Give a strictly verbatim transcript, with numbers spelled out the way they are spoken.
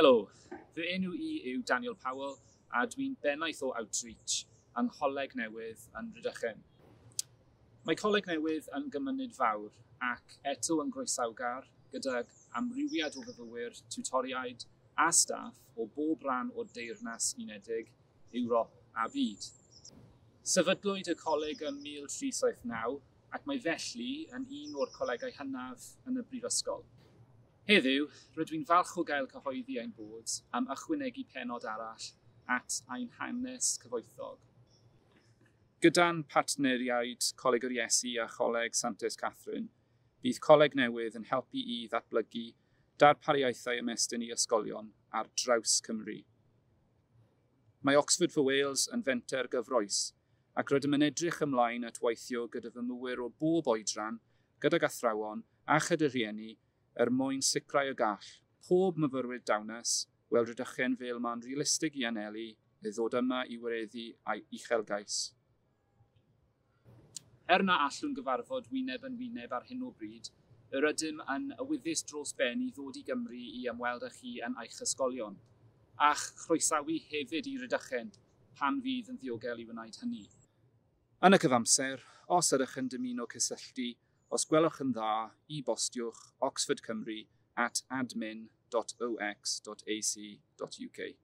Helo, fy enw i yw Daniel Powell a dwi'n bennaeth o Outreach yng Ngholeg Newydd yn Rhydychen. Mae Coleg Newydd yn gymuned fawr ac eto yn groesawgar gydag amrywiad o fyfyrwyr, tiwtoriaid a staff o bob rhan o'r Deyrnas Unedig, Ewrop a byd. Sefydlwyd y coleg ym mil tri saith naw ac mae felly yn un o'r colegau hynaf yn y brifysgol. Heddiw, rydw i'n falch o gael cyhoeddi ein bod am ychwanegu pennod arall at ein hanes cyfoethog. Gyda'n partneriaid Coleg yr Iesu a Choleg Santes Catherine, bydd Coleg Newydd yn helpu i ddatblygu darpariaethau ymestyn i ysgolion ar draws Cymru. Mae Oxford for Wales yn fenter gyffrous, ac rydym yn edrych ymlaen at weithio gyda fyfyrwyr o bob oedran, gydag athrawon a chyda rhieni er mwyn sicrhau y gall pob myfyrwyr dawnus weld Rhydychen fel man realistig i anelu i ddod yma i wireddu ei uchelgais. Er na allwn gyfarfod wyneb yn wyneb ar hyn o bryd, yr ydym yn awyddus dros ben i ddod i Gymru i ymweld â chi yn eich ysgolion, a'ch chroesawu hefyd i Rydychen pan fydd yn ddiogel i wneud hynny. Yn y cyfamser, os ydych yn dymuno cysylltu, os gwelwch yn dda, e-bostiwch oxfordcymru at admin dot o x dot a c dot u k.